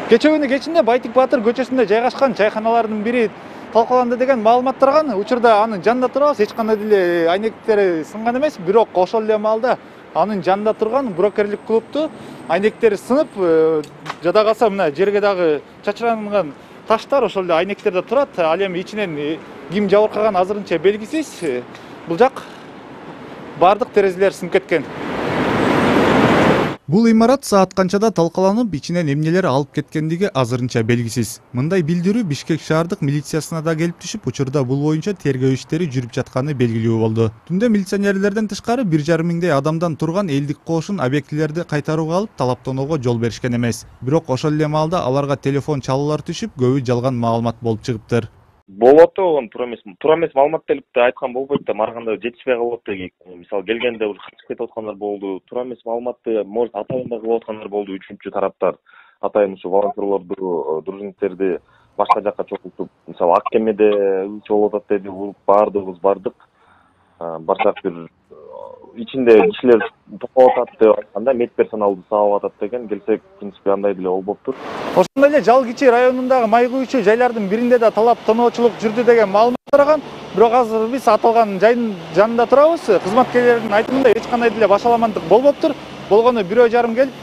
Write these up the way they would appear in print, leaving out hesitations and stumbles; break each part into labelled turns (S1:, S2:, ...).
S1: Кечээ күнү кечинде Байтик Баатыр көчөсүндө жайгашкан чайканалардын бири талкаланды деген маалымат тараган. Учурда анын жанында турабыз, эч кандай деле айнектери сынган эмес, бирок ошол эле маалда анын жанында турган брокерлик клубту айнектери сынып, жада калса мына жерге дагы чачыранган таштар ошол эле айнектерде турат. Ал эми ичинен ким жабыркаган азырынча белгисиз. Бул жак бардык терезелер сынып кеткен. Бул имарат саат канчада талкаланып, ичинен эмнелер алып кеткендиги азырынча белгисиз. Мындай билдирүү Бишкек шаардык милициясына да келип түшүп, учурда бул боюнча тергөө иштери жүрүп жатканы белгилүү болду. Түндө милиционерлерден тышкары 1,5 миңдей адамдан турган элдик кошун объектилерди кайтарууга алып, талаптоого жол беришкен эмес. Бирок ошол эле маалда аларга телефон чалуулар түшүп, көбү жалган маалымат болуп чыгыптыр.
S2: Болот болгон туура эмес маалымат келип да айткан болбойт да, барганда жетишпей калып деги. Мисалы келгенде уже качып кетип аткандар болду. Туура эмес маалыматты может атайын да кылып аткандар болду. Үчүнчү тараптар атайын ушу волонтерлорду, дружинниктерди башка жакка чогултуп, мисалы ак кемеде ылчы болуп атат деди, баардыгыбыз бардык. Барсак бир ичинде кишилер токтоп атат деп айтканда, медперсоналды сабап атат деген, келсек, в принципе, андай деле болбоптур.
S1: Ошондой эле Жал Кичи районундагы май куючу жайлардын биринде да талап тоноочулук жүрдү деген маалымат тараган. Бирок азыр биз аталган жайдын жанында турабыз. Кызматкерлердин айтымында эч кандай деле башаламандык болбоптур. Болгону 1,5 келип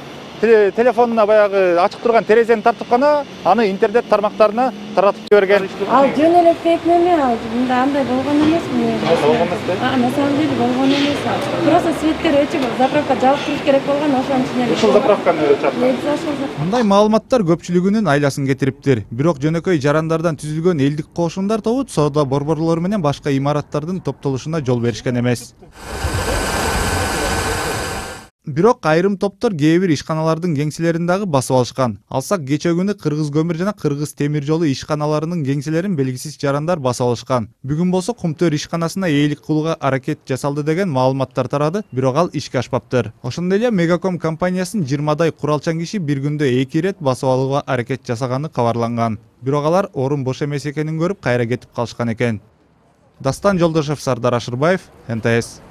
S1: телефонуна баягы ачык турган терезени тартып гана аны интернет тармактарына таратып жиберген.
S3: Ал жөн эле фейк неме, ал мында андай болгон эмес.
S1: Болгон эмес.
S3: На самом деле болгон эмес. Просто светтер өчүп, заправка жабып туруш керек болгон, ошонун үчүн эле.
S1: Ушул заправканы чакырып. Мындай маалыматтар көпчүлүгүнүн айласын кетириптир. Бирок жөнөкөй жарандардан түзүлгөн элдик кошундар тобу соода борборлору менен башка имараттардын топтолушуна жол беришкен эмес. Бирок айрым топтор кээ бир ишканалардын кеңселерин дагы басып алышкан. Алсак кечээ күнү Кыргыз көмүр жана Кыргыз темир жолу ишканаларынын кеңселерин белгисиз жарандар басып алышкан. Бүгүн болсо Кумтөр ишканасына ээлик кылууга аракет жасалды деген маалыматтар тарады, бирок ал ишке ашпаптыр. Ошондой эле Мегаком компаниясынын 20дай куралчан киши бир күндө 2 ирет басып алууга аракет жасаганы кабарланган. Бирок алар орун бош эмес экенин көрүп, кайра кетип калышкан экен. Дастан Жолдошев, Сардар Ашырбаев, НТС.